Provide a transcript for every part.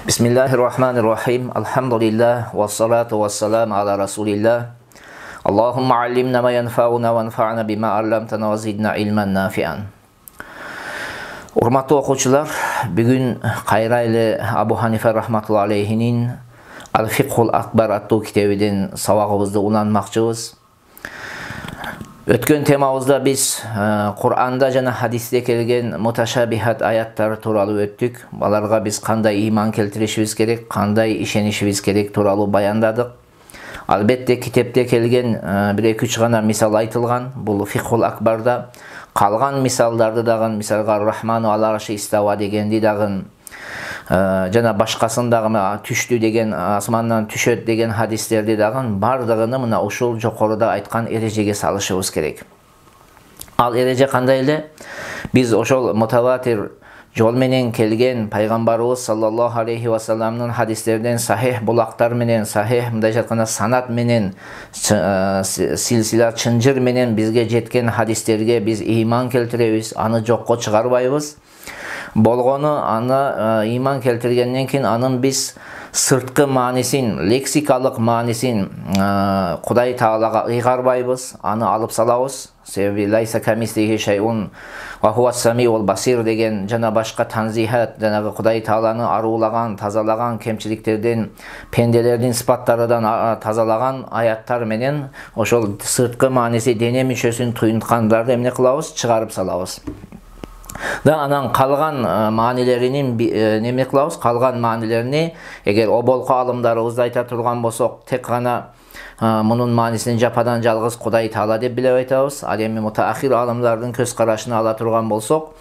Bismillahirrahmanirrahim. Alhamdulillah wassalatu wassalamu ala Rasulillah. Allahumma allimna ma yanfa'una wanfa'na bima 'allamtana wa zidna ilman nafi'an. Урматтуу окуучулар, бүгүн кайра эле Абу Ханифа рахматуллахи алейхинин Al-Fiqhul Akbar аттуу китебинен сабагыбызды уланмакчыбыз. Өткөн темабызда биз Кур'анда жана хадисте келген муташабихат аяттар тууралуу өттүк. Аларга биз кандай ыйман келтиришибиз керек, кандай ишенишибиз керек тууралуу баяндадык. Албетте китепте келген 1-2 гана мисал айтылган. Бул Фикхул Акбарда калган мисалдарды дагы, мисалга Рахману ала арши истава дегенди дагы, жана башкасын дагы түштү деген, асмандан түшөт деген хадистерди дагы бардыгын мына ушул жокоруда айткан эрежеге салышыбыз керек. Ал эреже кандай эле? Биз ошол мутаватир жол менен келген пайгамбарыбыз саллаллаху алейхи ва салламдын хадистерден сахих булактар менен, сахих мындайча айтканда санат менен, силсила чынжыр менен бизге жеткен хадистерге биз ыйман келтиребиз, аны жокко чыгарбайбыз. Болгону аны ыйман келтиргенден кийин анын биз сырткы маанисин, лексикалык маанисин Кудай Таалага ыйгарбайбыз, аны алып салабыз. Себеби лайса камислихи шайун ва хуа самиул басир деген жана башка танзихат, жанагы Кудай Тааланы аруулаган, тазалаган кемчиликтерден, пенделердин сыпаттарынан тазалаган аяттар менен ошол сырткы мааниси дене мүчөсүн туюнткандарды эмне кылабыз? Чыгарып салабыз. Да анан калган маанилеринин неме кылабыз? Калган маанилерини эгер оболку алымдарыбызды айта турган болсок, тек гана мунун маанисин жападан жалгыз Кудай Таала деп билип айтабыз. Ал эми мутаахир алымдардын көз карашын ала турган болсок,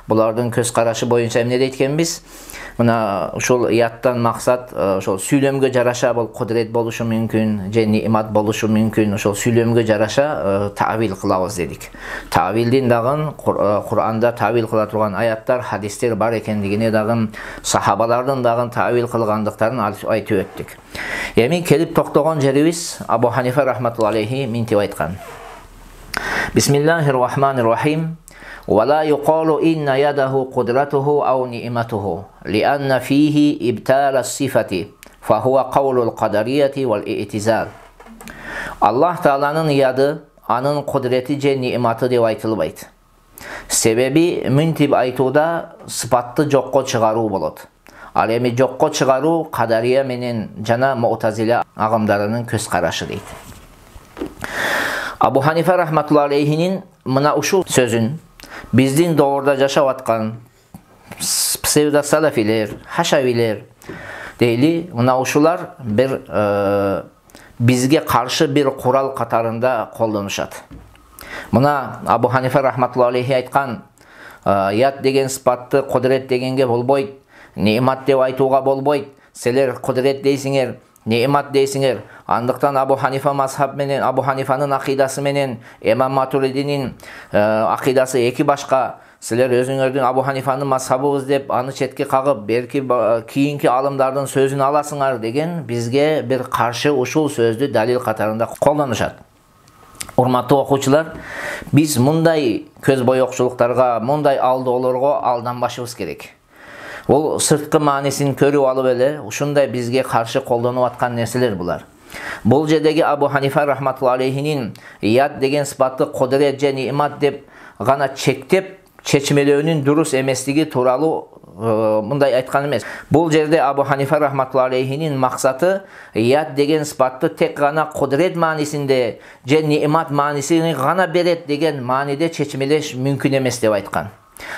булардын көз карашы боюнча эмне дейт экенбиз? Мына ушул ияттан максат ошол сүйлөмгө жараша бул кудрет болушу мүмкүн, же нимат болушу мүмкүн. Ошол сүйлөмгө жараша тавил кылабыз дедик. Тавилдин дагы Кур'анда тавил кыла турган аяттар, хадистер бар экендигине дагы, сахабалардын дагы тавил кылгандыктарын айтып өттүк. Эми келип токтогон жерибиз Абу Ханифа рахматуллахи алейхи мынтип айткан. Бисмиллахир-рахманир-рахим. ولا يقال إن يده قدرته أو نعمته لأن فيه إبطال الصفة فهو قول القدرية والاعتزال. Allah Taala'nın yadı, anın kudreti же ниматы деп айтылбайт. Себеби мынтип айтууда сыпатты жокко чыгаруу болот. Ал эми жокко чыгаруу кадария менен жана муътазила агымдарынын көз карашы дейт. Абу Ханифа рахматуллахи алейхинин мына ушул сөзүн биздин доорда жашап аткан псевдосалафилер, хашавилер дейли, мына ушулар бир бизге каршы бир курал катарында колдонушат. Мына Абу Ханифа рахматуллахи алейхи айткан, ят деген сыпатты кудрет дегенге болбойт, нимат деп айтууга болбойт. Силер кудрет дейсиңер, нимат дейсиңер. Андыктан Абу Ханифа мазхаб менен, Абу Ханифанын акыйдасы менен Имам Матуридинин акыйдасы эки башка. Силер өзүңөрдүн Абу Ханифанын мазхабыбыз деп аны четке кагып, берки кийинки алымдардын сөзүн аласыңар деген бизге бир каршы ушул сөздү далил катарында колдонушат. Урматтуу окуучулар, биз мындай көз боёкчулуктарга, мындай алдоолорго алданбашыбыз керек. Ол сырткы маанисин көрүп алып эле ушундай бизге каршы колдонуп аткан нерселер булар. Бул жердеги Абу Ханифа рахматуллахи алейхинин ят деген сыпатты кудрет же нимат деп гана чектеп чечмелөөнүн дурус эместиги тууралуу мындай айткан эмес. Бул жерде Абу Ханифа рахматуллахи алейхинин максаты ят деген сыпатты тек гана кудрет маанисинде же нимат маанисин гана берет деген мааниде чечмелеш мүмкүн эмес деп айткан.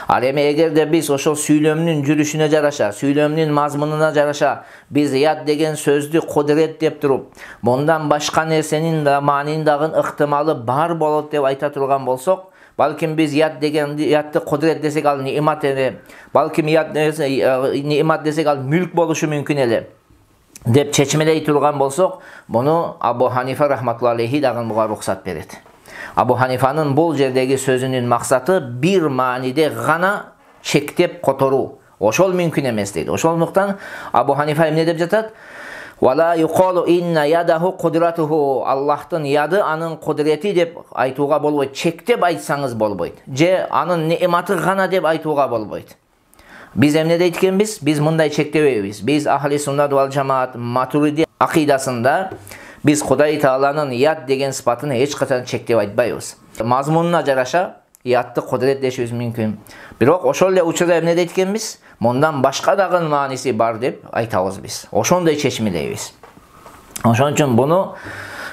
Ал эми эгерде биз ошол сүйлөмнүн жүрүшүнө жараша, сүйлөмнүн мазмунуна жараша биз ят деген сөздү кудрет деп туруп, мындан башка нерсенин да маанинин дагы ыктымалы бар болот деп айта турган болсок, балким биз ят деген ятты кудрет десек ал нимат эле, балким ят нимат десек ал мүлк болушу мүмкүн эле деп чечмелей турган болсок, муну Абу Ханифа рахматуллахи алейхи дагы буга рухсат берет. Абу Ханифанын бул жердеги сөзүнүн максаты бир мааниде гана чектеп которуу. Ошол мүмкүн эмес дейт. Ошондуктан Абу Ханифа эмне деп жатат? Вала юқалу инна ядаху кудратуху. Аллахтын яды анын кудрети деп айтууга болбойт. Чектеп айтсаңыз болбойт. Же анын ниматы гана деп айтууга болбойт. Биз эмне дейт экенбиз? Биз мындай чектебейбиз. Биз ахли суннат вал жамаат матуриди акыйдасында биз Кудай Тааланын ят деген сыпатын эч качан чектеп айтпайбыз. Мазмунуна жараша ятты кудурет дешибиз мүмкүн. Бирок ошол эле учурда эмне дейт экенбиз? Мындан башка дагы мааниси бар деп айтабыз биз. Ошондой чечимдейбиз. Ошон үчүн буну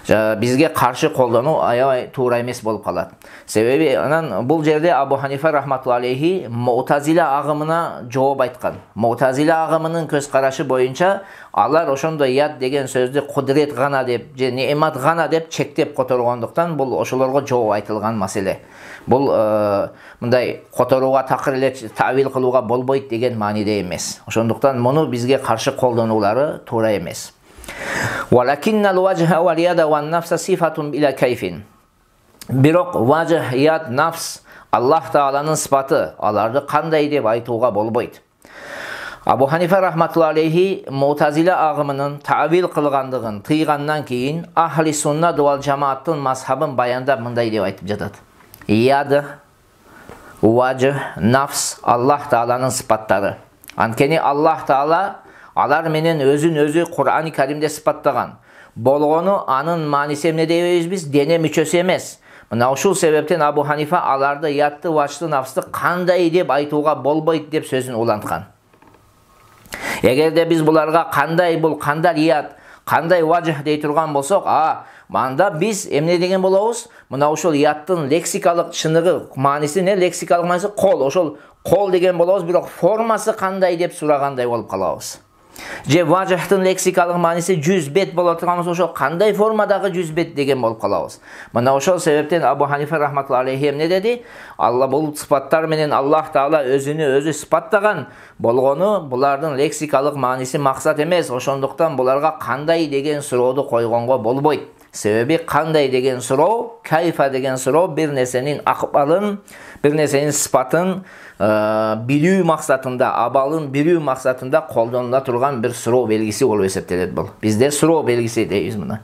бизге каршы колдонуу аябай туура эмес болуп калат. Себеби анан бул жерде Абу Ханифа рахматулла алейхи Му'тазила агымына жооп айткан. Му'тазила агымынын көз карашы боюнча алар ошондой ят деген сөздү кудурет гана деп же неъмат гана деп чектеп которгондуктан бул ошолорго жооп айтылган маселе. Бул мындай которууга такыр эле тавил кылууга болбойт деген мааниде эмес. Ошондуктан муну бизге каршы колдонуулары туура эмес. Валакиннал вajha вал яда ван нафса сифатун била кайфин. Бирок вajh, яд, нафс Аллах Тааланын сыпаты, аларды кандай деп айтууга болбойт. Абу Ханифа рахматулла алейхи Му'тазила агымынын тавил кылгандыгын тыйгандан кийин ахли суннат вал жамааттын мазхабын баяндап мындай деп айтып жатат. Яд, вajh, нафс Аллах Тааланын сыпаттары. Анткени Аллах Таала алар менен өзүн-өзү Кур'ан-ы Каримде сыпаттаган. Болгону анын мааниси эмне дейбиз биз? Дене мүчөсү эмес. Мына ушул себептен Абу Ханифа аларды ятты, вачты, нафсты кандай деп айтууга болбойт деп сөзүн уланткан. Эгерде биз буларга кандай бул, кандай ят, кандай вajh дей турган болсок, манда биз эмне деген болобуз? Мына ушул яттын лексикалык чыныгы, мааниси не? Лексикалык мааниси кол. Ошол кол деген болобуз, бирок формасы кандай деп сурагандай болуп калабыз. Же вajhtын лексикалык мааниси 100 бет боло турган болсо, ошол кандай формадагы 100 бет деген болуп калабыз. Мына ошол себептен Абу Ханифа рахматулла алейхи эмне деди? Алла бул сыпаттар менен Аллах Таала өзүнү өзү сыпаттаган. Болгону булардын лексикалык мааниси максат эмес. Ошондуктан буларга кандай деген сурооду койгонго болбойт. Себеби кандай деген суроо, кайфа деген суроо бир нерсенин акыбалын, бир нерсенин сыпатын билүү максатында, абалын билүү максатында колдонула турган бир суроо белгиси болуп эсептелет бул. Бизде суроо белгиси дейбиз муну.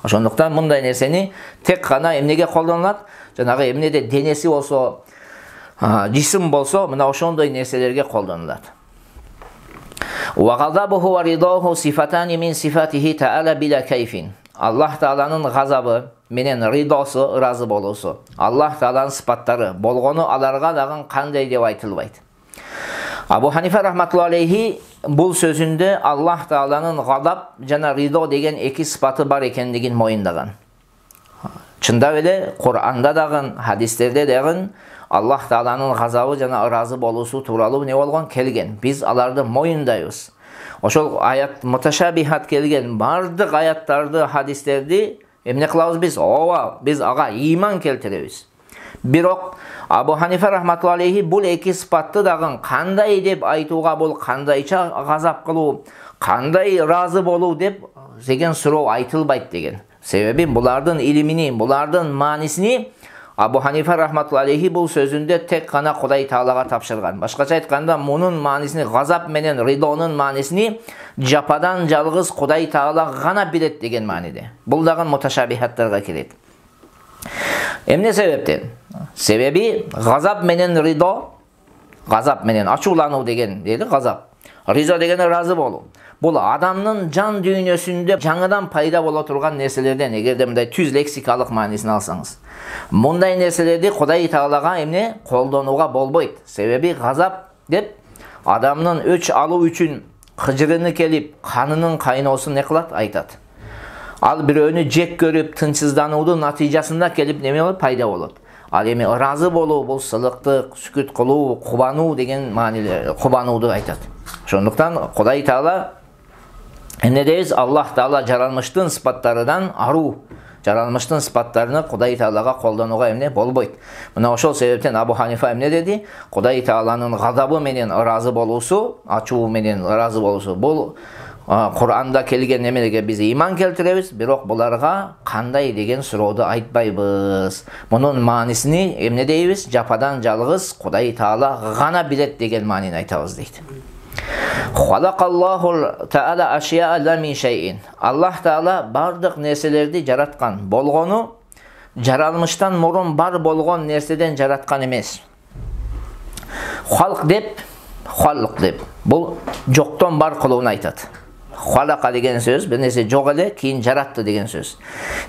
Ошондуктан мындай нерсени тек гана эмнеге колдонулат? Жанагы эмнеде денеси болсо, жисим болсо, мына ошондой нерселерге колдонулат. Ва газабуху ва ридоху сифатани мин сифатихи таала била кайфин. Аллах Тааланын газабы менен ридосу, ыраазы болуусу Аллах Тааланын сыпаттары болгону аларга дагы кандай деп айтылбайт. Абу Ханифа рахматулла алейхи бул сөзүндө Аллах Тааланын гадаб жана ридо деген эки сыпаты бар экендигин моюндаган. Чындап эле Кур'анда дагы, хадистерде дагы Аллах Тааланын газабы жана ыраазы болуусу тууралуу не болгон келген. Биз аларды моюндайбыз. Ошол аят муташабихат келген бардык аяттарды, хадистерди эмне кылабыз биз? Биз ага ыйман келтиребиз. Бирок Абу Ханифа рахматулла алейхи бул эки сыпатты дагы кандай деп айтууга, бул кандайча газап кылуу, кандай ыраазы болуу деп деген суроо айтылбайт деген. Себеби булардын илимини, булардын маанисини Абу Ханифа рахматулла алейхи бул сөзүндө тек гана Кудай Таалага тапшырган. Башкача айтканда, мунун маанисини, газап менен ридонун маанисини жападан жалгыз Кудай Таала гана билет деген мааниде. Бул дагы муташабихаттарга кирет. Эмне себептен? Себеби газап менен ридо, газап менен ачуулануу деген дейли, газап. Ризо деген ыраазы болуу. Бул адамдын жан дүйнөсүндө жаңыдан пайда боло турган нерселерден, эгерде мындай түз лексикалык маанисин алсаңыз. Мындай нерселерди Кудай Таалага эмне колдонууга болбойт. Себеби газап деп адамдын өч алуу үчүн кыжырыны келип, канынын кайноосун не кылат? Айтат. Ал бирөөнү жек көрүп, тынчсыздануунун натыйжасында келип неме болот? Пайда болот. Ал эми ыраазы болуу, бул сылыктык, сүкүт кылуу, кубануу деген маанилер, кубанууду айтат. Ошондуктан Кудай Таала эмне дейбиз? Аллах Таала жаралмыштын сыпаттарынан аруу, жаралмыштын сыпаттарыны Кудай Таалага колдонууга эмне болбойт. Мына ошол себептен Абу Ханифа эмне деди? Кудай Тааланын гадабы менен ыраазы болуусу, ачуу менен ыраазы болуусу бул Кур'анда келген эмелерге биз ыйман келтиребиз, бирок буларга кандай деген сурооду айтпайбыз. Мунун маанисини эмне дейбиз? Жападан жалгыз Кудай Таала гана билет деген маанини айтабыз дейт. Халакаллаху таала ашия ла мин шайин. Аллах Таала бардык нерселерди жараткан. Болгону жаралмыштан мурун бар болгон нерседен жараткан эмес. Халк деп халк деп. Бул жоктон бар кылууну айтат. Халака деген сөз бир нерсе жок эле, кийин жаратты деген сөз.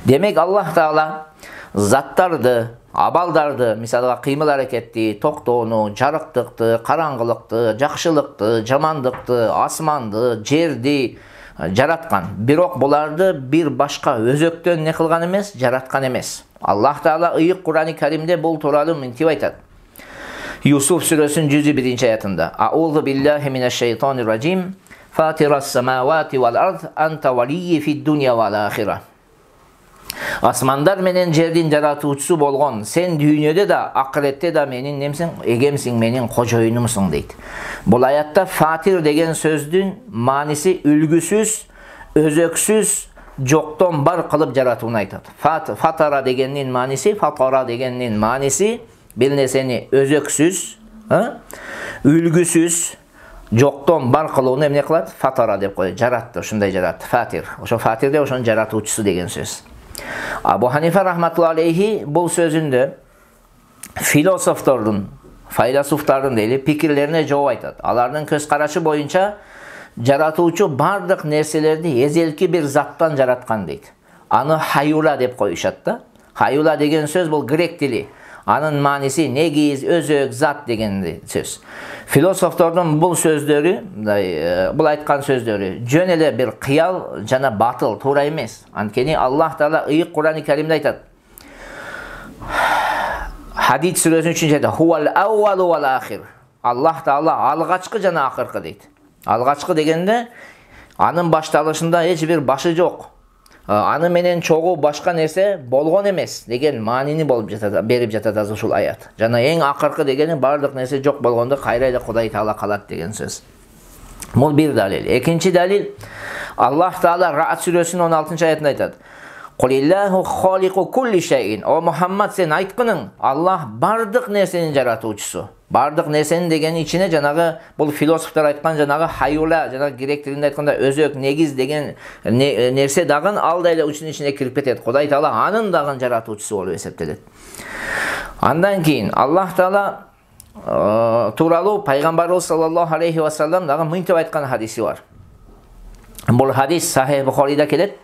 Демек Аллах Таала заттарды, абалдарды, мисалга кыймыл аракетти, токтоону, жарыктыкты, караңгылыкты, жакшылыкты, жамандыкты, асманды, жерди жараткан. Бирок буларды бир башка өзөктөн не кылган эмес, жараткан эмес. Аллах Таала ыйык Кур'ани Каримде бул тууралуу мынтип айтат. Юсуф сүрөсүнүн 101-аятында: Аузу биллахи минаш шайтанир ражим. Фатирас самавати вал ард анта валийи фид дунья вал ахира. Асмандар менен жердин жаратуучусу болгон сен дүйнөдө да, акыретте да менин немсиң, эгемсиң, менин кожоюнумсуң дейт. Бул аятта фатир деген сөздүн мааниси үлгүсүз, өзөксүз, жоктон бар кылып жаратууну айтат. Фатара дегенин мааниси, фатара дегенин мааниси бир нерсени өзөксүз, үлгүсүз, жоктон бар кылууну эмне кылат? Фатара деп коет. Жаратты, ушундай жаратты. Фатир. Ошо фатирде ошонун жаратуучусу деген сөз. Абу Ханифа рахматулла алейхи бул сөзүндө философтордун, файласуфтардын дейли пикирлерине жооп айтат. Алардын көз карашы боюнча жаратуучу бардык нерселерди эзелки бир заттан жараткан дейт. Аны хаюла деп коюшат да. Хаюла деген сөз бул грек тили. Анын мааниси негиз, өзөк, зат деген сөз. Философтордун бул сөздөрү, бул айткан сөздөрү жөн эле бир кыял жана батыл, туура эмес. Анткени Аллах Таала ыйык Кур'ани Каримде айтат. Хадид сүрөсүнүн 3-аятында Хуал аувалу вал ахир. Аллах Таала алгачкы жана акыркы дейт. Алгачкы дегенде анын башталышында эч бир башы жок. Аны менен чогуу башка нерсе болгон эмес деген маанини берип жатат азыр ушул аят. Жана эң акыркы дегени бардык нерсе жок болгондо кайра эле Кудай Таала калат деген сөз. Бул бир далил. Экинчи далил, Аллах Таала Ра'д сүрөсүнүн 16-аятында айтат. Кулиллаху халику кулли шайин. О Мухаммад, сен айткының, Аллах бардык нерсенин жаратуучусу. Бардык нерсенин дегени ичине жанагы бул философтор айткан жанагы хаюла, жанагы грек тилинде айтканда өзөк, негиз деген нерсе дагы ал да эле ушунун ичине кирип кетет. Кудай Таала анын дагы жаратуучусу болуп эсептелет. Андан кийин Аллах Таала тууралуу пайгамбарыбыз саллаллаху алейхи ва саллям дагы мынтип айткан хадиси бар. Бул хадис Сахих Бухарида келет.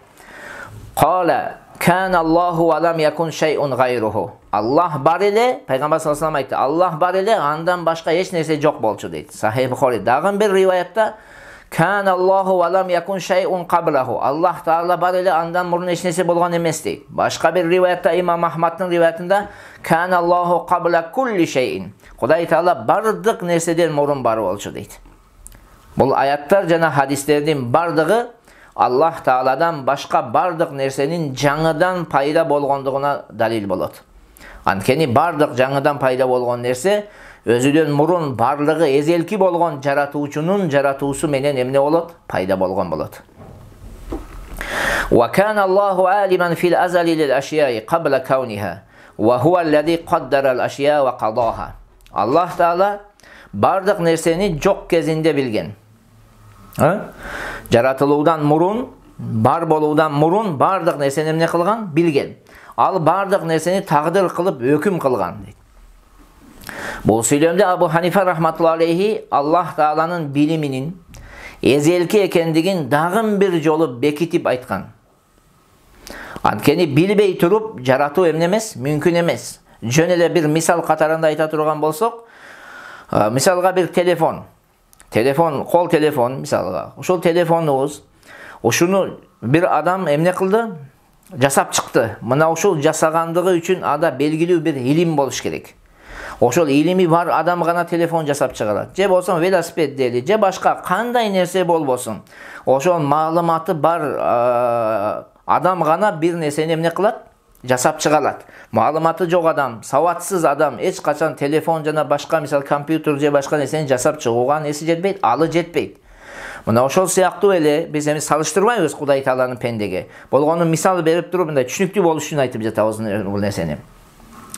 Кала кан Аллаху ва лам якун шайун гайруху. Аллах бар эле, пайгамбар саллаллаху алейхи ва саллям айтты. Аллах бар эле, андан башка эч нерсе жок болчу дейт. Сахих Бухари. Дагы бир риваятта кан Аллаху ва лам якун шайун каблаху. Аллах Таала бар эле, андан мурун эч нерсе болгон эмес дейт. Башка бир риваятта Имам Ахмадтын риваятында кан Аллаху кабла кулли шайин. Кудай Таала бардык нерседен мурун бар болчу дейт. Бул аяттар жана хадистердин бардыгы Аллах Тааладан башка бардык нерсенин жаңыдан пайда болгондугуна далил болот. Анткени бардык жаңыдан пайда болгон нерсе өзүдөн мурун барлыгы эзелки болгон жаратуучунун жаратуусу менен эмне болот? Пайда болгон болот. Ва кана Аллаху алиман фил азали лил ашияи кабла кауниха ва хуа аллади каддара ал ашия ва кадаха. Аллах Таала бардык нерсени жок кезинде билген. Жаратылуудан мурун, бар болуудан мурун бардык нерсени эмне кылган? Билген. Ал бардык нерсени тагдыр кылып өкүм кылган дейт. Бул сүйлөмдө Абу Ханифа рахматулла алейхи Аллах Тааланын билиминин эзелки экендигин дагы бир жолу бекитип айткан. Анткени билбей туруп жаратуу эмне эмес? Мүмкүн эмес. Жөн эле бир мисал катарында айта турган болсок, мисалга бир телефон, кол телефон мисалга. Ушул телефонубуз, ушуну бир адам эмне кылды? Жасап чыкты. Мына ушул жасагандыгы үчүн ада белгилүү бир илим болуш керек. Ошол илими бар адам гана телефон жасап чыгарат. Же болсо велосипед дейли, же башка кандай нерсе болбосун. Ошол маалыматы бар адам гана бир нерсени эмне кылат? Жасап чыгарат. Маалыматы жок адам, сабатсыз адам эч качан телефон жана башка мисал компьютер же башка нерсени жасап чыгууга неси жетпейт, алы жетпейт. Мына ошол сыяктуу эле биз эми салыштырбайбыз Кудай Тааланын пендеге. Болгону мисал берип туруп мындай түшүнүктүү болуш үчүн айтып жатабыз бул нерсени.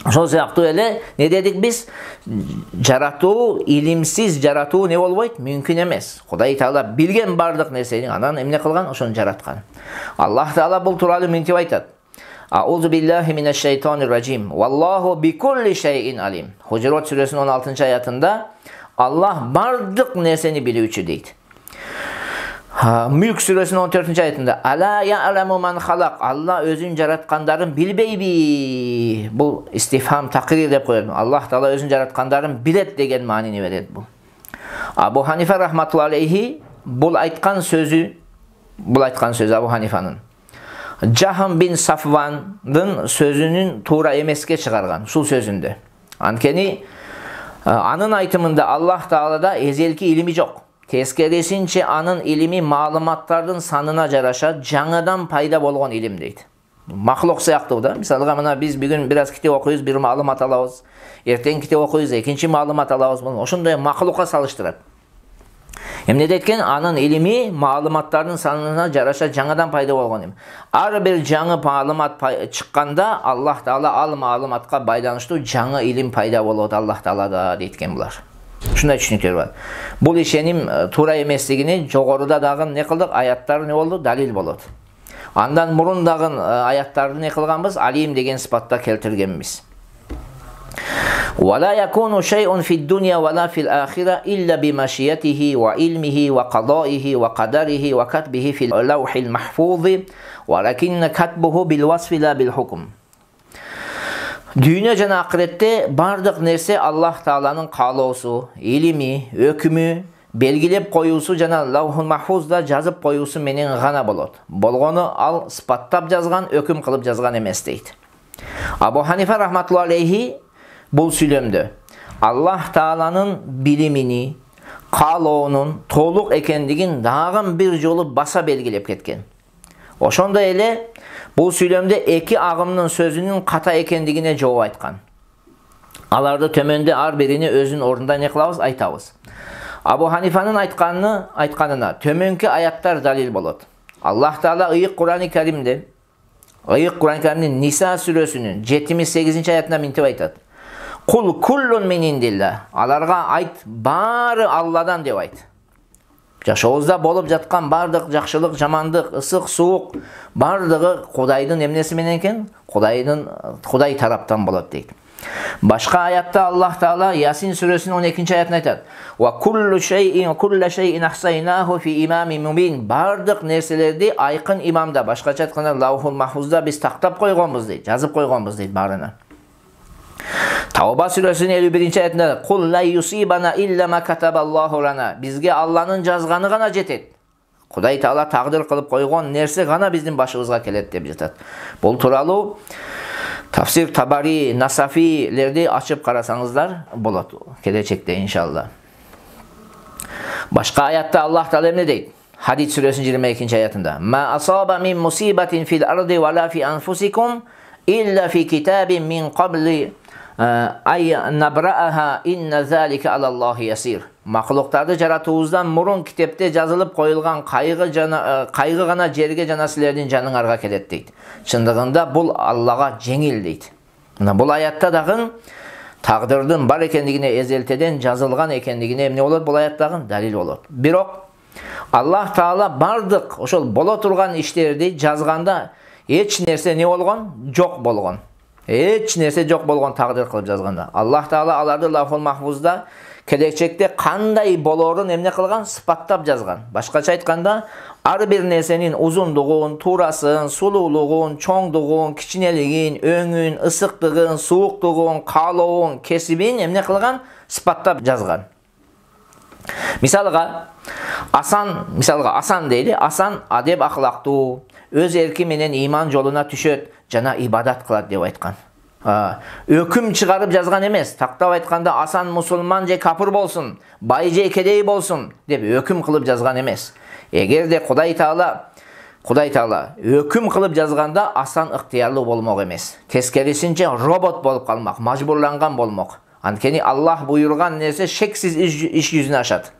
Ошол сыяктуу эле не дедик биз? Жаратуу, илимсиз жаратуу не болбойт? Мүмкүн эмес. Кудай Таала билген бардык нерсени анан эмне кылган? Ошону жараткан. Аллах Таала бул тууралуу мынтип айтат. Аузу биллахи минаш шайтанир ражим. Валлаху бикулли шайин алим. Хужурат сүрөсүнүн 16-аятында Аллах бардык нерсени билүүчү дейт. Мүлк сүрөсүнүн 14-аятында Ала я'ламу ман халак, Алла өзүн жараткандарын билбейби? Бул истифхам такрир деп коет. Аллах Таала өзүн жараткандарын билет деген маанини берет бул. Абу Ханифа рахматуллахи алейхи бул айткан сөзү Абу Ханифанын Жахм бин Сафвандын сөзүнүн туура эмеске чыгарган, ушул сөзүндө. Анткени анын айтымында Аллах Таалада эзелки илими жок. Тескерисинче анын илими маалыматтардын санына жараша жаңадан пайда болгон илим дейт. Махлук сыяктуу да. Мисалга мына биз бүгүн бир аз китеп окуйбуз, бир маалымат алабыз. Эртең китеп окуйбуз, экинчи маалымат алабыз. Ошондой махлукка салыштырат. Эмне дейткен? Анын илими маалыматтардын санына жараша жаңадан пайда болгон илим. Ар бир жаңы маалымат чыкканда Аллах Таала ал маалыматка байланыштуу жаңы илим пайда болот Аллах Таалада дейткен булар. Ушундай түшүнүктөр бар. Бул ишеним туура эместигини жогоруда дагы не кылдык? Аяттар не болду? Далил болот. Андан мурун дагы аяттарды не кылганбыз? Алим деген сыпатта келтиргенбиз. ولا يكون شيء في الدنيا ولا في الآخرة إلا بمشيئته وعلمه وقضائه وقدره وكتبه في اللوح المحفوظ ولكن كتبه بالوصف لا بالحكم. Дүйнө жана акыретте бардык нерсе Аллах Тааланын каалоосу, илими, өкүмү, белгилеп коюусу жана Лаухул Махфузда жазып коюусу менен гана болот. Болгону ал сыпаттап жазган, өкүм кылып жазган эмес дейт. Абу Ханифа рахматуллахи алейхи бул сүйлөмдө Аллах Тааланын билимини, каалоонун толук экендигин дагы бир жолу баса белгилеп кеткен. Ошондой эле бул сүйлөмдө эки агымдын сөзүнүн ката экендигине жооп айткан. Аларды төмөндө ар бирини өзүнүн ордунда не кылабыз? Айтабыз. Абу Ханифанын айтканына төмөнкү аяттар далил болот. Аллах Таала ыйык Кур'ан-ы Каримде, Ниса сүрөсүнүн 78-аятында мынтип айтат. Кул куллун мин индилла. Аларга айт, баары Алладан деп айт. Жашообузда болуп жаткан бардык жакшылык, жамандык, ысык, суук бардыгы Кудайдын эмнеси менен экен? Кудай тараптан болот дейт. Башка аятта Аллах Таала Ясин сүрөсүнүн 12-аятында айтат. Ва куллу шейин ахсайнаху фи имамин мубин. Бардык нерселерди айкын имамда, башкача айтканда Лаухул Махфузда биз тактап койгонбуз дейт, жазып койгонбуз дейт баарына. Тауба сүрөсүнүн 51-аятында Кул ла юсибана илля ма катабаллаху лана. Бизге Алланын жазганы гана жетет. Кудай Таала тагдыр кылып койгон нерсе гана биздин башыбызга келет деп жатат. Бул тууралуу Тафсир Табари, Насафилерди ачып карасаңыздар болот келечекте иншалла. Башка аятта Аллах Таала эмне дейт? Хадид сүрөсүнүн 22-аятында Ма асаба мин мусибатин фил арди ва ла фи анфусикум илля фи китабин мин кабли ай набрааха инна залика алаллахи ясир. Махлуктарды жаратуубуздан мурун китепте жазылып коюлган кайгы гана жерге жана силердин жаныңарга келет дейт. Чындыгында бул Аллага жеңил дейт. Мына бул аятта дагы тагдырдын бар экендигине, эзелтеден жазылган экендигине эмне болот? Бул аяттагы далил болот. Бирок Аллах Таала бардык ошол боло турган иштерди жазганда эч нерсе не болгон? Жок болгон. Эч нерсе жок болгон тагдыр кылып жазганда. Аллах Таала аларды Лаухул Махфузда келечекте кандай болорун эмне кылган? Сыпаттап жазган. Башкача айтканда, ар бир нерсенин узундугун, туурасын, сулуулугун, чоңдугун, кичинелигин, өңүн, ысыктыгын, сууктугун, каалоон, кесибин эмне кылган? Сыпаттап жазган. Мисалга Асан дейли. Асан адеп акылактуу, өз эрки менен иман жолуна түшөт жана ибадат кылат деп айткан. Өкүм чыгарып жазган эмес. Тактап айтканда Асан мусулман же капыр болсун, бай же кедей болсун деп өкүм кылып жазган эмес. Эгерде Кудай Таала өкүм кылып жазганда Асан ыктыярлуу болмок эмес. Тескерисинче робот болуп калмак, мажбурланган болмок. Анткени Аллах буйруган нерсе шексиз иш жүзүнө ашат.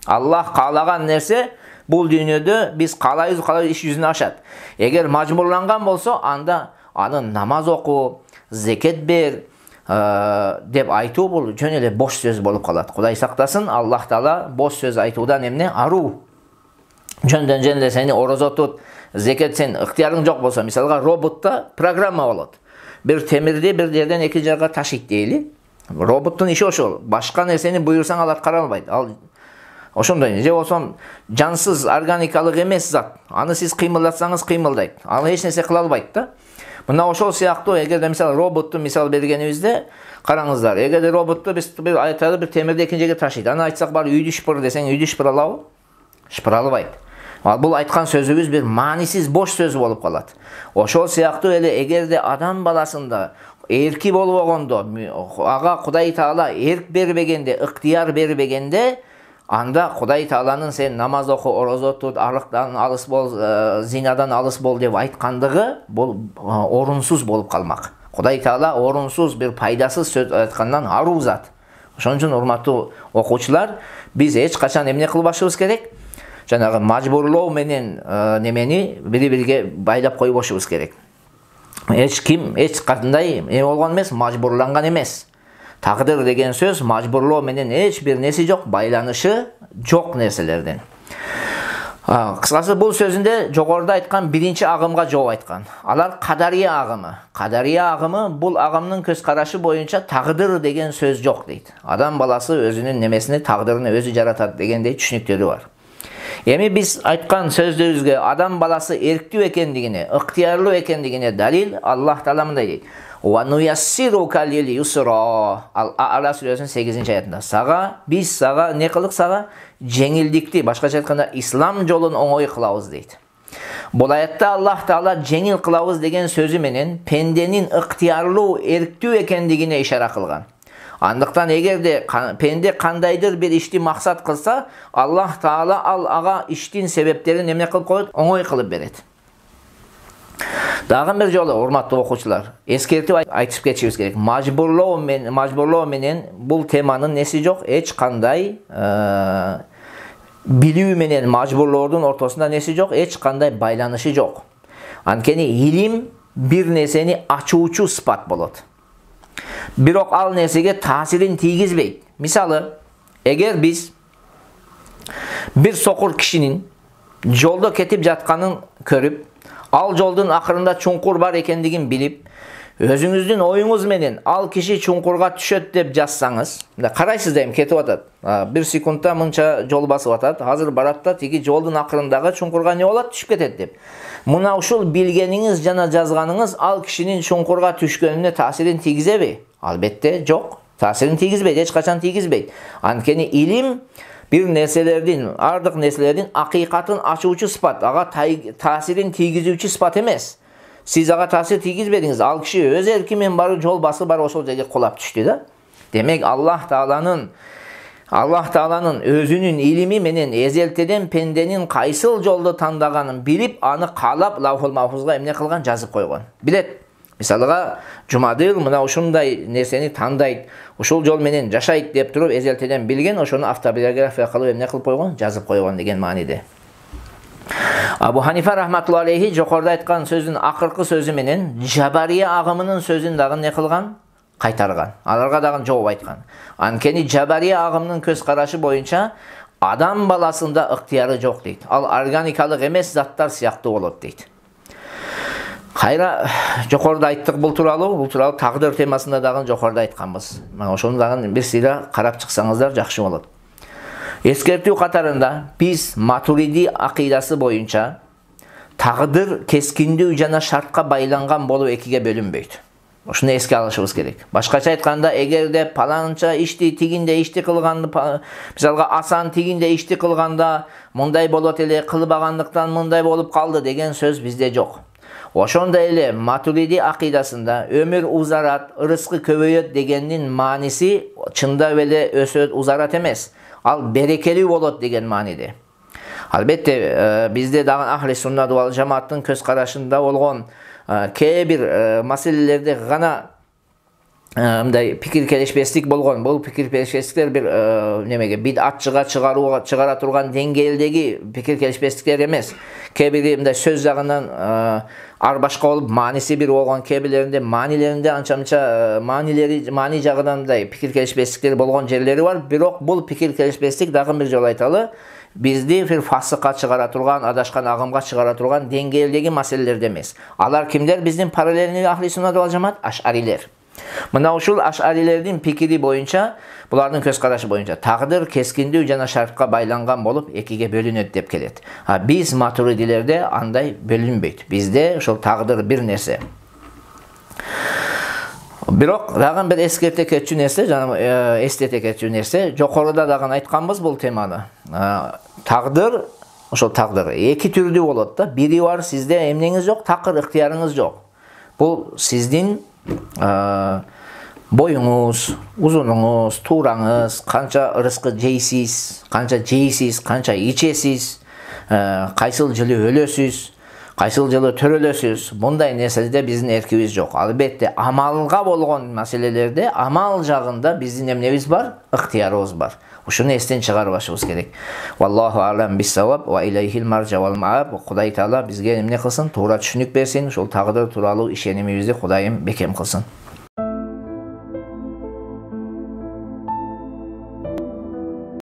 Аллах каалаган нерсе бул дүйнөдө биз каалайбыз иш жүзүнө ашат. Эгер мажбурланган болсо, анда аны намаз оку, зекет бер деп айтуу бул жөн эле бош сөз болуп калат. Кудай сактасын, Аллах Таала бош сөз айтуудан эмне? Аруу. Жөндөн эле сени орозо тут, зекет сен ыктыярың жок болсо, мисалга роботта программа болот. Бир темирди бир жерден эки жакка ташыйт дейли. Роботтун иши ошол. Башка нерсени буйрсаң ал аткара албайт. Ал ошондой. Же болсо жансыз, органикалык эмес зат. Аны сиз кыймылдатсаңыз кыймылдайт. Ал эч нерсе кыла албайт да. Мына ошол сыяктуу эгерде мисалы роботту мисал бергенибизде караңыздар. Эгерде роботту биз айталы бир темирди экинчи жерге ташыйт. Аны айтсак бар үйдү шыпыр десең үйдү шыпыра алабы? Шыпыра албайт. Ал бул айткан сөзүбүз бир маанисиз бош сөз болуп калат. Ошол сыяктуу эле эгерде адам баласында эрки болбогондо, ага Кудай Таала эрк бербегенде, ыктыяр бербегенде, анда Кудай Тааланын сен намаз оку, орозо тут, арыктан алыс бол, зинадан алыс бол деп айткандыгы бул орунсуз болуп калмак. Кудай Таала орунсуз бир пайдасыз сөз айткандан аруу зат. Ошон үчүн урматтуу окуучулар, биз эч качан эмне кылбашыбыз керек? Жанагы мажбурлоо менен немени бири-бирге байлап койбошубуз керек. Эч ким, эч кандай болгон эмес, мажбурланган эмес. Тагдыр деген сөз мажбурлоо менен эч бир нерсе жок, байланышы жок нерселерден. Кыскасы бул сөзүндө жогоруда айткан биринчи агымга жооп айткан. Алар кадария агымы. Кадария агымы бул агымдын көз карашы боюнча тагдыр деген сөз жок дейт. Адам баласы өзүнүн немесини, тагдырын өзү жаратат дегендей түшүнүктөрү бар. Эми биз айткан сөздөрүбүзгө адам баласы эрктүү экендигине, ыктыярлуу экендигине далил Аллах Таала мындай дейт. Ва нуяссирука лил юсра. Ал-А'ла сүрөсүнүн 8-аятында. Биз сага не кылдык сага? Жеңилдикти, башкача айтканда ислам жолун оңой кылабыз дейт. Бул аятта Аллах Таала жеңил кылабыз деген сөзү менен пенденин ыктыярлуу, эрктүү экендигине ишара кылган. Андыктан эгерде пенде кандайдыр бир ишти максат кылса, Аллах Таала ага иштин себептерин эмне кылып коет? Оңой кылып берет. Дагы бир жолу урматтуу окуучулар, эскертип айтып кетишибиз керек. Мажбурлоо менен бул теманын неси жок, эч кандай билүү менен мажбурлоодун ортосунда неси жок, эч кандай байланышы жок. Анткени илим бир нерсени ачуучу сыпат болот. Бирок ал нерсеге таасирин тийгизбейт. Мисалы, эгер биз бир сокур кишинин жолдо кетип жатканын көрүп, ал жолдун акырында чуңкур бар экендигин билип, өзүңүздүн оюңуз менен ал киши чуңкурга түшөт деп жазсаңыз, карайсыз да эми кетип атат. Бир секундта мынча жол басып атат, азыр барат да тиги жолдун акырындагы чуңкурга не болот? Түшүп кетет деп. Мына ушул билгениңиз жана жазганыңыз ал кишинин чуңкурга түшкөнүнө таасирин тийгизеби? Албетте жок. Таасирин тийгизбейт, эч качан тийгизбейт. Анткени илим бир нерселердин, ардык нерселердин акыйкатын ачуучу сыпат, ага таасирин тийгизүүчү сыпат эмес. Сиз ага таасир тийгизбедиңиз, ал киши өз эрки менен барып жол басып барып ошол жерге кулап түштү да. Демек Аллах Тааланын өзүнүн илими менен эзелтеден пенденин кайсыл жолду тандаганын билип, аны каалап Лаухул Махфузга эмне кылган? Жазып койгон. Билет. Мисалга, Жумадыл мына ушундай нерсени тандайт, ушул жол менен жашайт деп туруп эзелтеден билген, ошону автобиография кылып эмне кылып койгон? Жазып койгон деген мааниде. Абу Ханифа рахматуллахи алейхи жокоруда айткан сөзүн акыркы сөзү менен Жабария агымынын сөзүн дагы не кылган? Кайтарган. Аларга дагы жооп айткан. Анткени Жабария агымынын көз карашы боюнча адам баласында ыктыяры жок дейт. Ал органикалык эмес заттар сыяктуу болот дейт. Кайра жокоруда айттык бул тууралуу тагдыр темасында дагы жокоруда айтканбыз. Мына ошону дагы бир сыйра карап чыксаңыздар жакшы болот. Эскертүү катарында биз Матуриди акыйдасы боюнча тагдыр кескиндүү жана шартка байланган болуп экиге бөлүнбөйт. Ошону эске алышыбыз керек. Башкача айтканда, эгерде паланча ишти тигинде ишти кылганды, мисалга Асан тигинде ишти кылганда мындай болот эле, кылбагандыктан мындай болуп калды деген сөз бизде жок. Ошондой эле Матуриди акыйдасында өмүр узарат, ырыскы көбөйөт дегендин мааниси чындап эле өсөт, узарат эмес. Ал берекелүү болот деген мааниде. Албетте бизде дагы Ахли Суннат вал Жамааттын көз карашында болгон кээ бир маселелерде гана мындай пикир келишпестик болгон. Бул пикир келишпестиктер бир немеге бидатчыга чыгара турган деңгээлдеги пикир келишпестиктер эмес. Кээ бири мындай сөз жагынан ар башка болуп, мааниси бир болгон, кээ бирлеринде маанилеринде анча-мынча маани жагынан мындай пикир келишпестиктер болгон жерлери бар. Бирок бул пикир келишпестик дагы бир жолу айталы, бизди бир фасыкка чыгара турган, адашкан агымга чыгара турган деңгээлдеги маселелерде эмес. Алар кимдер? Биздин параллельный Ахли Суннат вал Жамаат? Ашарилер. Мына ушул ашарилердин пикири боюнча, булардын көз карашы боюнча тагдыр кескиндүү жана шартка байланган болуп экиге бөлүнөт деп келет. Биз матуридилерде андай бөлүнбөйт. Бизде ошол тагдыр бир нерсе. Бирок дагы бир эскерте кетчү нерсе, жана эстете кетчү нерсе, жокоруда дагы айтканбыз бул теманы. Тагдыр, ошол тагдыр эки түрдүү болот да. Бири бар, сизде эмнеңиз жок, такыр ыктыярыңыз жок. Бул сиздин боюңуз, узунуңуз, туураңыз, канча ырыскы жейсиз, канча ичесиз, кайсыл жылы өлөсүз, кайсыл жылы төрөлөсүз. Мындай нерселерде биздин эркибиз жок. Албетте, амалга болгон маселелерде, амал жагында биздин эмнебиз бар? Ыктыярыбыз бар. Ушуну эстен чыгарбашыбыз керек. Валлаху алам бис-саваб ва илейхил маржа вал мааб. Кудай Таала бизге эмне кылсын? Туура түшүнүк берсин. Ушул тагдыр тууралуу ишенимибизди Кудайым бекем кылсын.